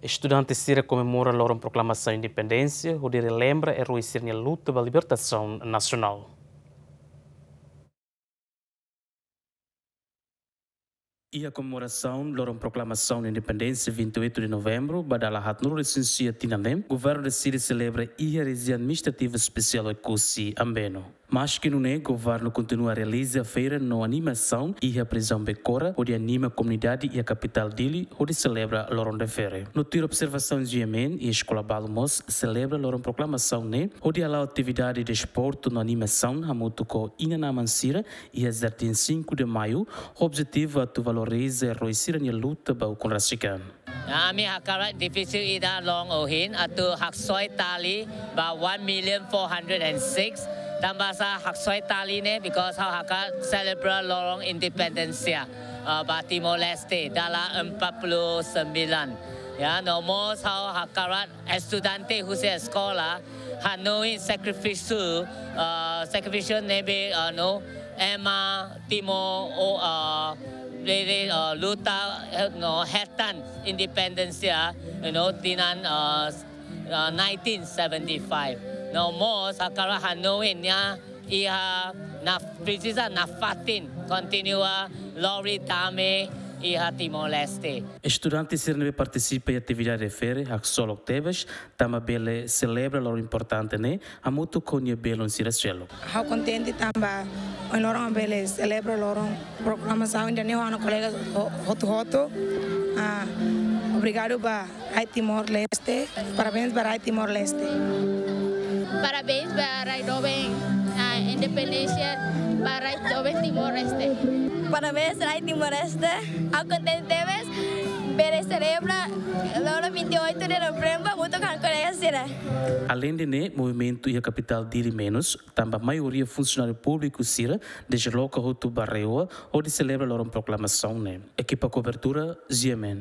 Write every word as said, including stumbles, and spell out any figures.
Estudante sira komemora loron proklamasaun independénsia hodi relembra eroi sira-nia luta ba libertasaun nasionál. Iha komemorasaun loron proklamasaun independénsia vinte e oito de novembro ba dala haatnulu-resin-sia tinan ne'e, governu deside selebra iha Rejiaun Administrativa Espesiál Oekusi Ambeno. Maski nune'e, governu kontinua realiza feira no animasaun iha prizaun Becora, hodi anima komunidade iha kapitál Dili hodi selebra loron refere. No tuir observasaun G M N, iha eskola balu mós selebra loron proklamasaun ne'e hodi hala'o atividade desportu no animasaun hamutuk ho inan-aman sira iha Jardín Cinco de Maio, ho objetivu atu valoriza eroi sira-nia luta ba ukun rasik an. Ami hakarak divizu ida loron ohin atu haksoit tali ba one million four hundred and six. Tanbasá haksoit tali ne'e? Because ha'u hakarak selebra loron independénsia, eh, ba Timor-Leste dala empat puluh sembilan. Ya, no mós ha'u hakarak estudante husi eskola hanoin sakrifísiu, eh, sakrifísiu ne'ebé, eh, no, ema Timor, o, eh, bele, eh, luta, eh, no, hetan independénsia, you know, tinan, eh, eh, nineteen seventy-five. No mós hakarak hanoin nia iha, na, presiza nafatin kontinua lori dame iha Timor-Leste. Estudante sira ne'ebé partisipa iha atividade refere haksolok tebes, tanba bele selebra loron importante ne'e hamutuk ho nia belun sira seluk. Ha'u kontente tanba ohin loron bele selebra loron proklamasaun ida-ne'e ho ha'u-nia kolega ho-, hotu-hotu. Ah, obrigadu ba rai Timor-Leste. Parabéns ba rai Timor-Leste. Parabéns ba rai doben, ah, independénsia ba rai doben Timor-Leste. Parabéns rai Timor-Leste. Ha'u kontente tebes bele selebra loron vinte e oito de novembro hamutuk ho kolega sira. Aleinde ne'e, movimentu iha kapitál Dili menus, tanba maioria funsionáriu públiku sira desloka hotu ba RAEOA hodi selebra loron proklamasaun ne'e. Ekipa kobertura, G M N.